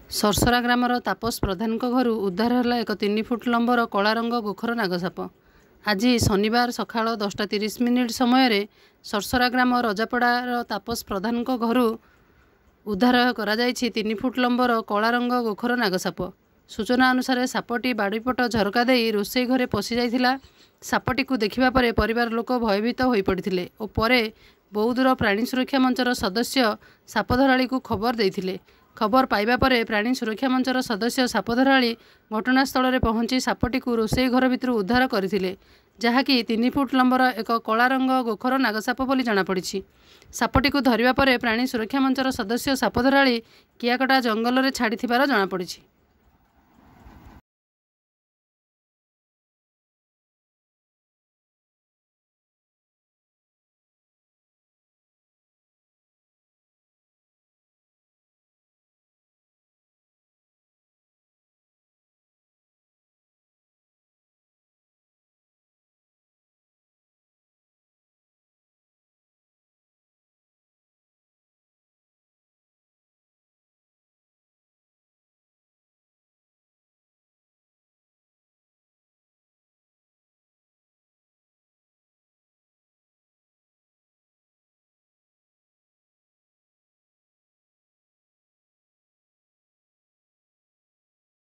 ସରସରା ଗ୍ରାମର ତାପସ ପ୍ରଧାନଙ୍କ ଘରୁ ଉଦ୍ଧାର ହେଲା ଏକ 3 ଫୁଟ ଲମ୍ବର କଳା ରଙ୍ଗ ଗୋଖର ନାଗସାପ। ଆଜି ଶନିବାର ସକାଳ 10ଟା 30 ମିନିଟ୍ ସମୟରେ ସରସରା ଗ୍ରାମ ରଜାପଡ଼ାର ତାପସ ପ୍ରଧାନଙ୍କ ଘରୁ ଉଦ୍ଧାର କରାଯାଇଛି 3 ଫୁଟ ଲମ୍ବର କଳା ରଙ୍ଗ ଗୋଖର ନାଗସାପ। ସୂଚନା ଅନୁସାରେ, ସାପଟି ବାଡ଼ିପଟ ଝରକା ଦେଇ ରୋଷେଇ ଘରେ ପଶି ଯାଇଥିଲା। ସାପଟିକୁ ଦେଖିବା ପରେ ପରିବାର ଲୋକ ଭୟଭୀତ ହୋଇପଡ଼ିଥିଲେ ଓ ପରେ ବୌଦ୍ଧର ପ୍ରାଣୀ ସୁରକ୍ଷା ମଞ୍ଚର ସଦସ୍ୟ ସାପଧରାଳିକୁ ଖବର ଦେଇଥିଲେ। ଖବର ପାଇବା ପରେ ପ୍ରାଣୀ ସୁରକ୍ଷା ମଞ୍ଚର ସଦସ୍ୟ ସାପଧରାଳି ଘଟଣାସ୍ଥଳରେ ପହଞ୍ଚି ସାପଟିକୁ ରୋଷେଇ ଘର ଭିତରୁ ଉଦ୍ଧାର କରିଥିଲେ, ଯାହାକି 3 ଫୁଟ ଲମ୍ବର ଏକ କଳା ରଙ୍ଗ ଗୋଖର ନାଗସାପ ବୋଲି ଜଣାପଡ଼ିଛି। ସାପଟିକୁ ଧରିବା ପରେ ପ୍ରାଣୀ ସୁରକ୍ଷା ମଞ୍ଚର ସଦସ୍ୟ ସାପଧରାଳି କିଆକଟା ଜଙ୍ଗଲରେ ଛାଡ଼ିଥିବାର ଜଣାପଡ଼ିଛି।